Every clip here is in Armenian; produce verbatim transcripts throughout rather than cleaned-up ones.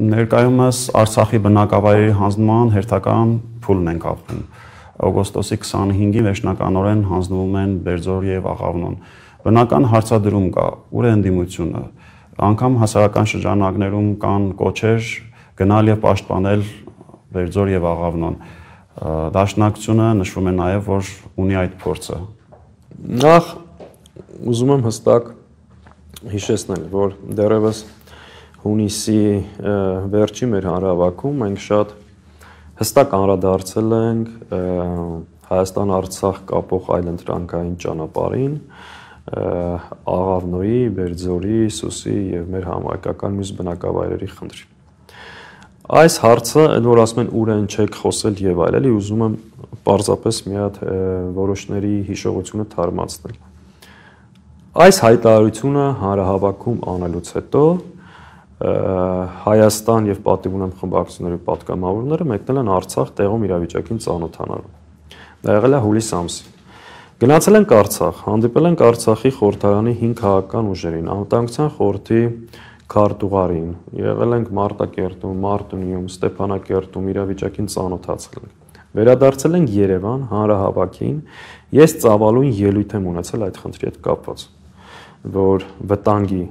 Ներկայումս Արցախի բնակավայրերի հանձնման հերթական փուլն ենք ապրում։ Օգոստոսի քսանհինգին վերջնականորեն հանձնվում են Բերձոր եւ Աղավնոն։ Բնական հարցադրում կա, ուր է ընդդիմությունը։ Անգամ հասարակական շրջանակներում կան կոչեր գնալ եւ պաշտպանել Բերձոր եւ Աղավնոն։ Դաշնակցությունը նշվում է նաեւ, որ ունի այդ փորձը։ Նախ ուզում եմ հստակ հիշեցնել, որ դեռևս հունիսի վերջի մեր հանրահավաքում մենք շատ հստակ անդրադարձել ենք Հայաստան-Արցախ կապող այլընտրանքային ճանապարհին, Աղավնոյի, Բերձորի, Սուսի եւ մեր համայնքական մյուս բնակավայրերի խնդրին։ Այս հարցը, որ ասում են ուր են չեք խոսել եւ այլն, ուզում եմ պարզապես մի հատ որոշների հիշողությունը թարմացնել։ Այս հայտարարությունը հանրահավաքում անելուց հետո Հայաստան եւ պատիվ ունեմ խմբակցությունների պատգամավորները մեկնել են Արցախ տեղում իրավիճակին ծանոթանալու։ Դա եղել է հուլիս ամսին։ Գնացել ենք Արցախ, հանդիպել ենք Արցախի խորհրդարանի հինգ քաղաքական ուժերին, անվտանգության խորհրդի քարտուղարին, եղել ենք Մարտակերտում, Մարտունիում, Ստեփանակերտում իրավիճակին ծանոթացել ենք։ Վերադարձել ենք Երևան հանրահավաքին, ես ծավալուն ելույթ եմ ունեցել այդ խնդրի հետ կապված, որ վտանգի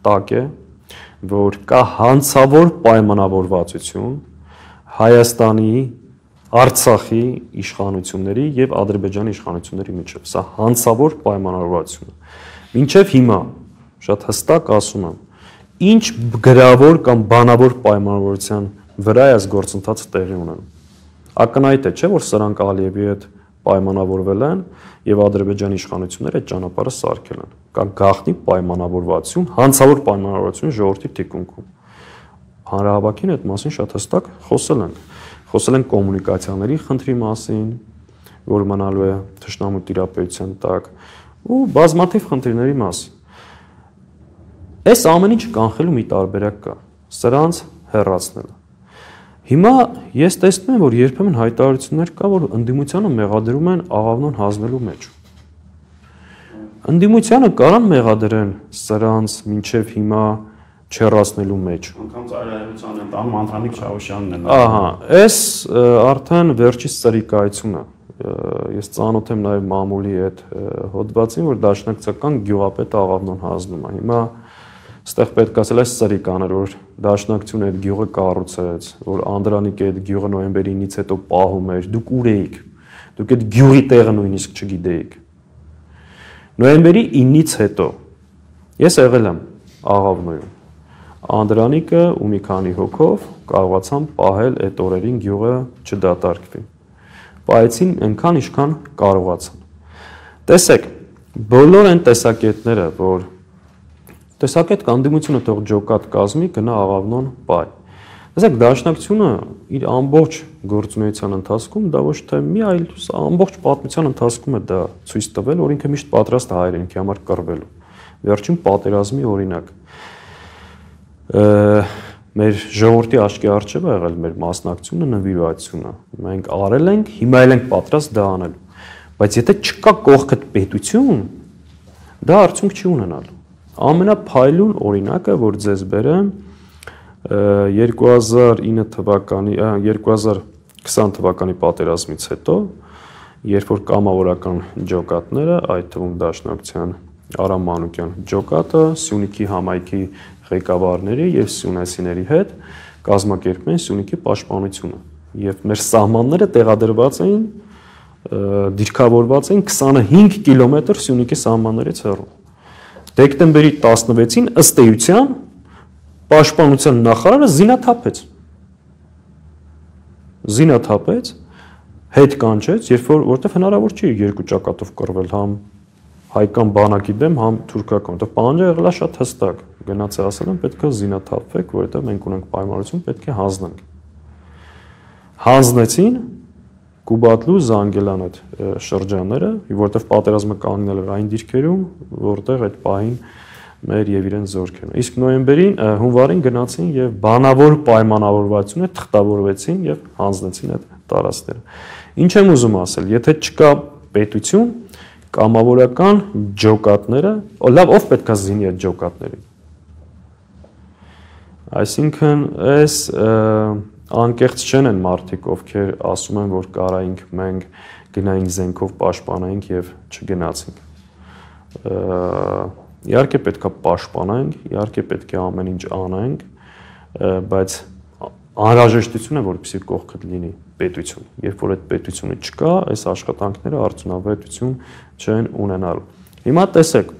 տակ է, որ կա հանցավոր պայմանավորվածություն Հայաստանի, Արցախի իշխանությունների եւ Ադրբեջանի իշխանությունների միջեւ։ Սա հանցավոր պայմանավորվածություն է։ Մինչեւ հիմա շատ հստակ ասում եմ, ինչ գրավոր կամ բանավոր պայմանավորվածության վրա է այս գործընթացը տեղի ունենում։ Ակնհայտ է, չէ՞ որ սրանք Ալիևի հետ պայմանավորվել են եւ Ադրբեջանի իշխանությունները այդ ճանապարհը սարքել են։ Կա գաղտնի պայմանավորվածություն, հանցավոր պայմանավորվածություն ժողովրդի թիկունքում։ Հանրահավաքին այդ մասին շատ հստակ խոսել ենք։ Խոսել ենք կոմունիկացիաների խնդրի մասին, որ մնալու է թշնամու տիրապետության տակ, ու բազմաթիվ խնդիրների մասին։ Այս ամեն ինչ կանխելու մի տարբերակ կա՝ սրանց հեռացնելը։ Հիմա ես տեսնում եմ, որ երբեմն հայտարարություններ կա, որ ընդդիմությանը մեղադրում են Աղավնոն հանձնելու մեջ։ Ընդդիմությանը կարան մեղադրեն սրանց մինչև հիմա չեռացնելու մեջ։ Անկամ ծայրահեղության են տանում Անդրանիկ Չավուշյանն են։ Ահա, այս արդեն վերջից ծրիկայությունը։ Ես ծանոթ եմ նաև մամուլի այդ հոդվածին, որ դաշնակցական գյուղապետ Աղավնոն հանձնում է։ Հիմա Ստեղ պետք է ասել այս ծրիկաներ, որ դաշնակցությունը այդ գյուղը կառուցեց, որ Անդրանիկը այդ գյուղը նոյեմբերի ինից հետո պահում էր, դուք ուր էիք, դուք այդ գյուղի տեղը նույնիսկ չգիտեիք։ Նոյեմբերի ինից հետո ես եղել եմ Աղավնոյում, Անդրանիկը ու մի քանի հոգով կարողացան պահել այդ օրերին գյուղը չդատարկվի։ Պահեցին այնքան, ինչքան կարողացան։ Տեսեք, բոլոր այն տեսակետները, որ տեսակետ կանդիմությունը թող ջոկատ կազմի գնա Աղավնոն բայ։ Տեսեք, դաշնակցությունը իր ամբողջ գործունեության ընթացքում դա ոչ թե մի այլ ամբողջ պատմության ընթացքում է դա ցույց տվել, որ ինքը միշտ պատրաստ է հայրենիքի համար կռվելու։ Վերջին պատերազմի օրինակ մեր ժողովրդի աչքի առջև է եղել մեր մասնակցությունը, նվիրվածությունը։ Մենք արել ենք, հիմա էլ ենք պատրաստ դա անելու։ Բայց եթե չկա կողքդ պետություն, դա արդյունք չի ունենալու։ Ամենափայլուն օրինակը, որ ձեզ բերեմ, երկու հազար ինը թվականի, երկու հազար քսան թվականի պատերազմից հետո, երբ որ կամավորական ջոկատները, այդ թվում դաշնակցության Արամ Մանուկյան ջոկատը, Սյունիքի համայնքի ղեկավարների եւ սյունեսիների հետ կազմակերպում են Սյունիքի պաշտպանությունը։ Եվ մեր սահմանները տեղադրված էին, դիրքավորված էին քսանհինգ կիլոմետր Սյունիքի սահմաններից հեռու։ Դեկտեմբերի տասնվեցին ըստ էության պաշտպանության նախարարը զինաթափեց։ Զինաթափեց, հետ կանչեց, երբ որ որտեվ հնարավոր չի երկու ճակատով կռվել, համ հայկական բանակի դեմ, համ թուրքական։ Դա պահանջը եղել է շատ հստակ։ Գնաց է ասել են պետք է զինաթափվեք, որովհետև մենք ունենք պայմանություն, պետք է հանձնենք։ Հանձնեցին Կուբատլու, Զանգելան այդ շրջանները, որտեղ պատերազմը կանգնել էր այն դիրքերում, որտեղ այդ պահին մեր եւ իրեն զորքերն։ Իսկ նոյեմբերին, հունվարին գնացին եւ բանավոր պայմանավորվածությունը թղթավորվեցին եւ հանձնեցին այդ տարածքները։ Ինչ եմ ուզում ասել, եթե չկա պետություն, կամավորական ջոկատները, լավ, ով պետք է զինի այդ ջոկատներին։ Այսինքն այս անկեղծ չեն են մարդիկ, ովքեր ասում են, որ կարայինք մենք գնայինք զենքով պաշտպանենք եւ չգնացինք։ Իհարկե պետք է պաշտպանենք, իհարկե պետք է ամեն ինչ անենք, բայց անհրաժեշտություն է, որպեսզի կողքդ լինի պետություն։ Երբ որ այդ պետությունը չկա, այս աշխատանքները արդյունավետություն չեն ունենալու։ Հիմա տեսեք,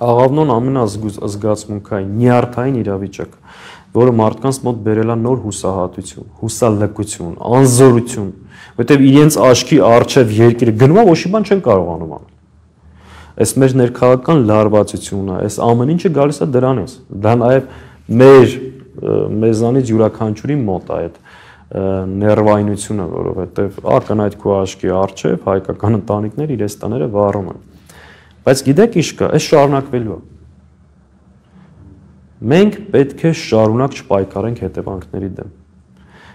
աղավնոն ամենազգացմունքային, նյարդային իրավիճակ, որը մարդկանց մոտ բերել է նոր հուսահատություն, հուսալքություն, անզորություն, որտեղ իրենց աչքի առջև երկիրը գնում է, ոչ մի բան չեն կարողանում անել։ Այս մեր ներքաղաքական լարվածությունը, այս ամեն ինչը գալիս է դրանից։ Դա նաև մեր մեզանից յուրաքանչյուրի մոտ է այդ ներվայնությունը, որովհետև ակնհայտ քո աչքի առջև հայկական ընտանիքներ իրենց տները վառում են։ Բայց գիտեք ինչ կա, այս շարունակվելու է։ Մենք պետք է շարունակ չպայքարենք հետևանքների դեմ։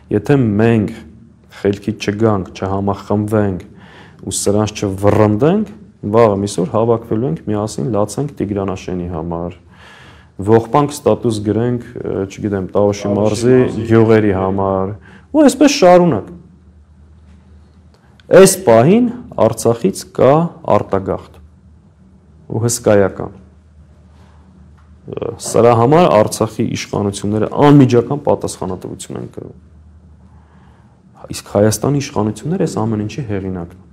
Եթե մենք խելքից չգանք, չհամախմբվենք ու սրանց չվռնդենք, վաղը միսօր հավաքվելու ենք միասին լացենք Տիգրանաշենի համար, ողբանք ստատուս գրենք, չգիտեմ, Տավուշի մարզի գյուղերի համար, ու այսպես շարունակ։ Այս պահին Արցախից կա արտագաղթ ու հսկայական։ Սրա համար Արցախի իշխանությունները անմիջական պատասխանատվություն են կրում։ Իսկ Հայաստանի իշխանությունները այս ամեն ինչի հեղինակն են։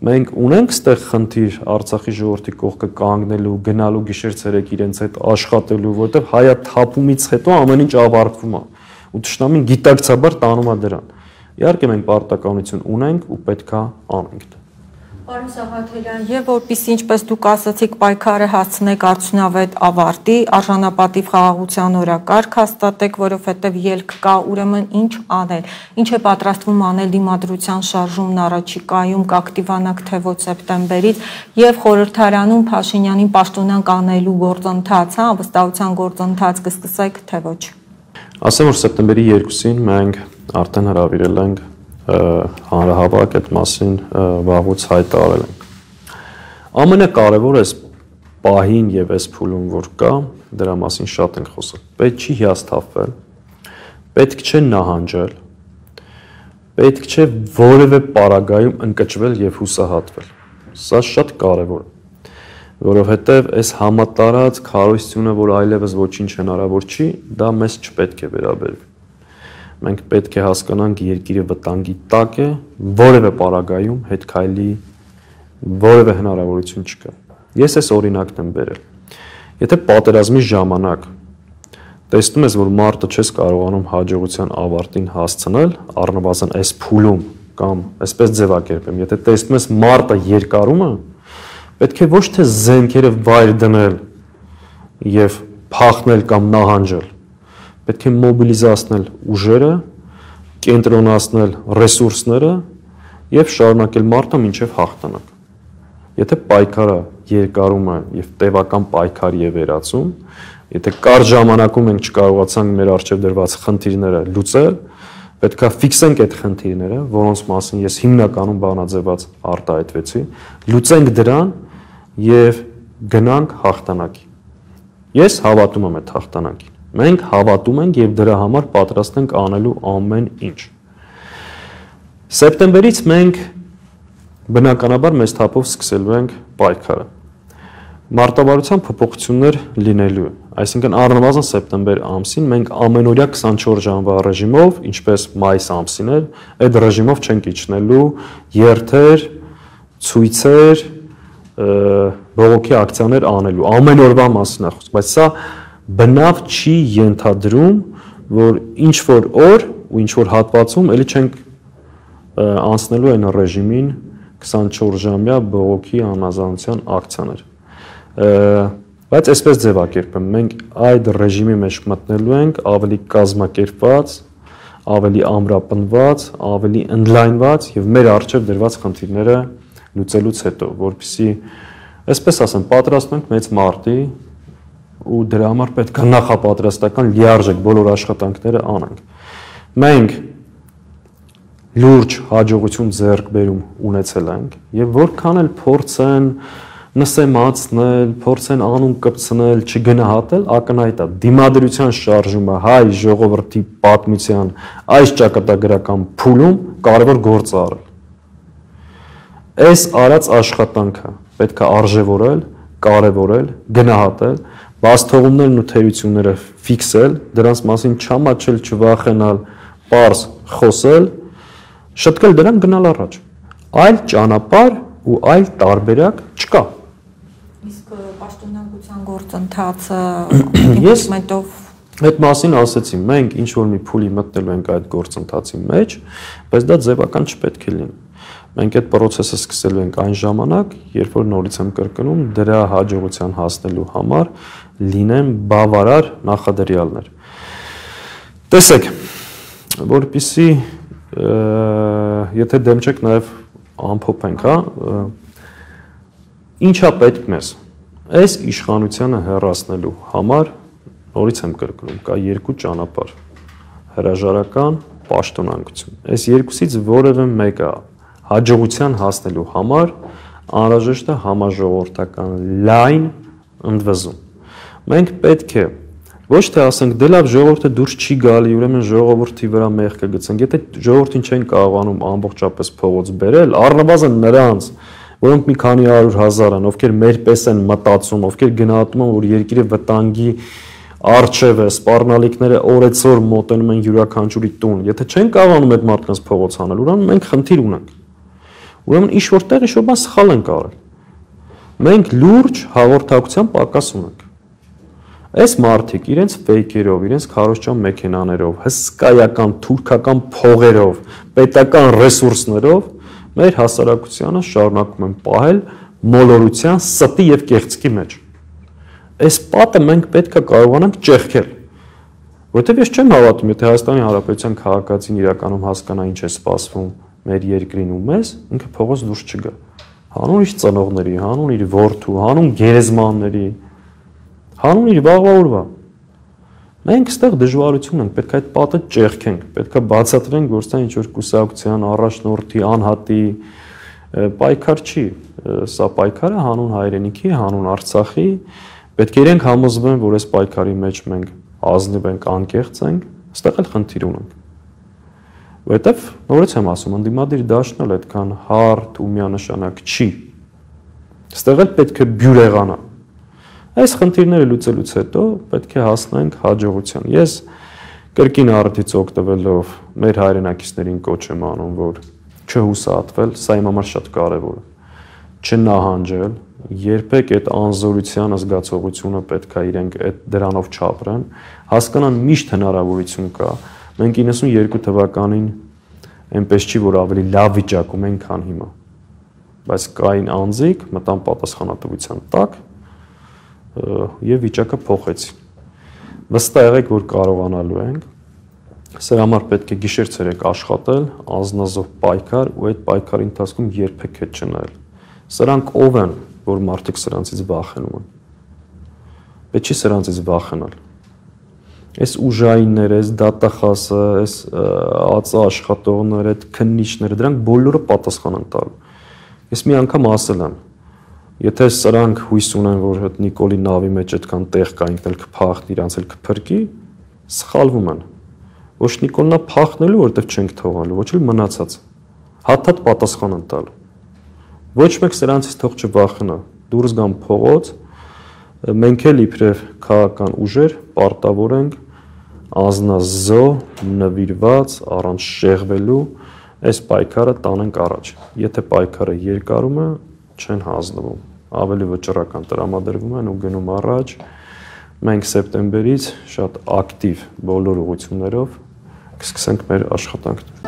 Մենք ունենք ստեղ խնդիր Արցախի ժողովրդի կողքը կանգնելու, գնալու գիշեր-ցերեկ իրենց հետ աշխատելու, որտեղ հայա թափումից հետո ամեն ինչ ավարտվում է։ Ու ճշտամին գիտակցաբար տանում է դրան։ Իհարկե մենք պարտականություն ունենք ու պետքա անենք դա։ Պարոն Սաղաթելյան, եւ որպեսզի ինչպես դուք ասացիք, պայքարը հասցնեք արդյունավետ ավարտի, արժանապատիվ խաղաղության օրակարգ հաստատեք, որովհետեւ ելք կա, ուրեմն ինչ անել, ինչ է պատրաստվում անել դիմադրության շարժումն առաջիկայում, կակտիվանաք թե ոչ սեպտեմբերից եւ խորհրդարանում Փաշինյանին պաշտոնանկ անելու գործընթաց, հա, վստահության գործընթաց կսկսեք թե ոչ։ Ասեմ, որ սեպտեմբերի երկուսին մենք արդեն հրավիրել ենք հանրահավաք այդ մասին վաղուց հայտարարել ենք։ Ամենակարևորը այս պահին եւ այս փուլում որ կա, դրա մասին շատ ենք խոսել։ Պետք չի հիասթափվել, պետք չէ նահանջել, պետք չէ որևէ պարագայում ընկճվել եւ հուսահատվել։ Սա շատ կարևոր է, որովհետեւ այս համատարած քարոզությունը, որ այլևս ոչինչ հնարավոր չի, դա մեզ չպետք է վերաբերվի։ Մենք պետք է հասկանանք երկիրը վտանգի տակ է, որևէ պարագայում հետ քայլի որևէ հնարավորություն չկա։ Ես այս օրինակն եմ բերել։ Եթե պատերազմի ժամանակ տեսնում ես, որ մարտը չես կարողանում հաջողության ավարտին հասցնել, առնվազն այս փուլում կամ այսպես ձևակերպեմ, եթե տեսնում ես մարտը երկարում է, պետք է ոչ թե զենքերը վայր դնել եւ փախնել կամ նահանջել, պետք է մոբիլիզացնել ուժերը, կենտրոնացնել ռեսուրսները եւ շարունակել մարտը մինչեւ հաղթանակ։ Եթե պայքարը երկարում է եւ տևական պայքար եւ վերացում, եթե կարճ ժամանակում մենք չկարողացանք մեր առջեւ դրված խնդիրները լուծել, պետքա ֆիքսենք այդ խնդիրները, որոնց մասին ես հիմնականում բանաձևած արտահայտվեցի, լուծենք դրան եւ գնանք հաղթանակի։ Ես հավատում եմ այդ հաղթանակին։ Մենք հավատում ենք եւ դրա համար պատրաստ ենք անելու ամեն ինչ։ Սեպտեմբերից մենք բնականաբար մեծ թափով սկսելու ենք պայքարը։ Մարտավարության փոփոխություններ լինելու է, այսինքն առնվազն սեպտեմբեր ամսին մենք ամենօրյա քսանչորս ժամվա ռեժիմով, ինչպես մայիս ամսին էր, այդ ռեժիմով չենք իջնելու երթեր, ցույցեր, բողոքի ակցիաներ անելու, ամեն օրվա մասին է խոսքը, բայց սա բնավ չի ենթադրում, որ ինչ որ օր ու ինչ որ հատվածում էլի չենք անցնելու այն ռեժիմին քսանչորս ժամյա բողոքի անազանության ակցիաներ։ Բայց այսպես ձևակերպեմ, մենք այդ ռեժիմի մեջ մտնելու ենք ավելի կազմակերպված, ավելի ամրապնդված, ավելի ընդլայնված եւ մեր առջեւ դրված խնդիրները լուծելուց հետո, որպեսզի այսպես ասեմ, պատրաստում ենք մեծ մարտի ու դրա համար պետք է նախապատրաստական լիարժեք բոլոր աշխատանքները անենք։ Մենք լուրջ հաջողություն ձեռք բերում ունեցել ենք եւ որքան էլ փորձեն նսեմացնել, փորձեն անուն կպցնել, չգնահատել, ակնհայտ է դիմադրության շարժումը հայ ժողովրդի պատմության այս ճակատագրական փուլում կարևոր գործ արել։ Այս արած աշխատանքը պետք է արժևորել, կարևորել, գնահատել, բացթողումներն ու թերությունները ֆիքսել, դրանց մասին չամաչել, չվախենալ, պարզ խոսել, շտկել դրան գնալ առաջ։ Այլ ճանապարհ ու այլ տարբերակ չկա։ Իսկ պաշտոնանկության գործընթացը ես մետով այդ մասին ասեցի, մենք ինչ որ մի փուլի մտնելու ենք այդ գործընթացի մեջ, բայց դա ձևական չպետք է լինի։ Մենք այդ process-ը սկսելու ենք այն ժամանակ, երբ որ նորից եմ կրկնում, դրա հաջողության հասնելու համար լինեն բավարար նախադրյալներ։ Տեսեք, որպեսզի եթե դեմ չեք նաև ամփոփենք, հա, ինչա պետք մեզ։ Այս իշխանությանը հեռացնելու համար նորից եմ կրկնում, կա երկու ճանապարհ՝ հրաժարական, պաշտոնանկություն։ Այս երկուսից որևէ մեկը հաջողության հասնելու համար անհրաժեշտ է համաժողովրդական լայն ընդվզում։ Մենք պետք է ոչ թե ասենք դե լավ ժողովուրդը դուրս չի գալի, ուրեմն ժողովրդի վրա մեղք կգցենք, եթե ժողովրդին չեն կարողանում ամբողջապես փողոց բերել, առնվազն նրանց, որոնք մի քանի հարյուր հազար են, ովքեր մեր պես են մտածում, ովքեր գնահատում են, որ երկիրը վտանգի արժև է, սպառնալիքները օրեցօր մոտենում են յուրաքանչյուրի տուն, եթե չեն կարողանում այդ մարդկանց փողոց հանել, ուրեմն մենք խնդիր ունենք։ Ուրեմն ինչ որտեղ ինչ-որ բան սխալ ենք արել։ Մենք լուրջ հաղորդակցության պակաս ունենք։ Այս մարդիկ իրենց ֆեյքերով, իրենց քարոզչան մեքենաներով, հսկայական թուրքական փողերով, պետական ռեսուրսներով մեր հասարակությանը շարունակում են պահել մոլորության, ստի եւ կեղծքի մեջ։ Այս պատը մենք պետք է կարողանանք ճեղքել։ Որտեւ ես չեմ հավատում, եթե Հայաստանի Հանրապետության քաղաքացին իրականում հասկանա ինչ է սպասվում մեր երկրին ու մեզ, ինքը փողոց դուրս չգա։ Հանուն իր ծնողների, հանուն իր որդու, հանուն գերեզմանների, հանուն իր վաղվա օրվա։ Մենք այստեղ դժվարություն ենք, պետք է այդ պատը ճեղքենք, պետք է բացատրենք, որ սա ինչ որ կուսակցության առաջնորդի, անհատի պայքար չի, սա պայքարը հանուն հայրենիքի, հանուն Արցախի, պետք է իրենք համոզվեն, որ այս պայքարի մեջ մենք ազնիվ ենք, անկեղծ ենք, այստեղ էլ խնդիր ունենք։ Որտեվ նորից եմ ասում, ընդդիմադիր դաշտն էլ այդքան հարթ ու միանշանակ չի։ Այստեղ էլ պետք է բյուրեղանա։ Այս խնդիրները լուծելուց հետո պետք է հասնենք հաջողության։ Ես կրկին արդից օգտվելով մեր հայրենակիցներին կոչ եմ անում, որ չհուսահատվել, սա իմ համար շատ կարևոր է։ Չնահանջել, երբեք այդ անզորության զգացողությունը պետք է իրենք այդ դրանով չապրեն, հասկանան միշտ հնարավորություն կա։ Մենք իննսունյոթ թվականին այնպես չի, որ ավելի լավ վիճակում ենք, քան հիմա։ Բայց կային անձիկ մտան պատասխանատվության տակ եւ վիճակը փոխեցին։ Վստահ եղեք, որ կարողանալու ենք։ Սրա համար պետք է գիշեր-ցերեկ աշխատել, անznազով պայքար ու այդ պայքարի ընթացքում երբեք հետ չնայել։ Սրանք ով են, որ մարդիկ սրանցից վախենում են։ Պետք չի սրանցից վախենալ։ Այս ուժայինները, այս դատախասը, այս ածա աշխատողները, այդ քննիչները, դրանք բոլորը պատասխան են տալու։ Ես մի անգամ ասել եմ, եթե սրանք հույս ունեն, որ այդ Նիկոլի նավի մեջ այդքան տեղ կա, ինքն էլ կփախնի, իրանց էլ կփրկի, սխալվում են։ Ոչ Նիկոլնա փախնելու, որովհետև չենք թողալու, ոչ էլ մնացած։ Հաթաթ պատասխան են տալու։ Ոչ մեկ սրանցից թող չվախենա, դուրս գան փողոց, մենք էլ իբրև քաղաքական ուժեր պարտավոր ենք անznազո, նվիրված, առանց շեղվելու այս պայքարը տանենք առաջ։ Եթե պայքարը երկարում է, չեն հանձնվում, ավելի վճռական տրամադրվում են ու գնում առաջ։ Մենք սեպտեմբերից շատ ակտիվ բոլոր ուղղություններով կսկսենք մեր աշխատանքները։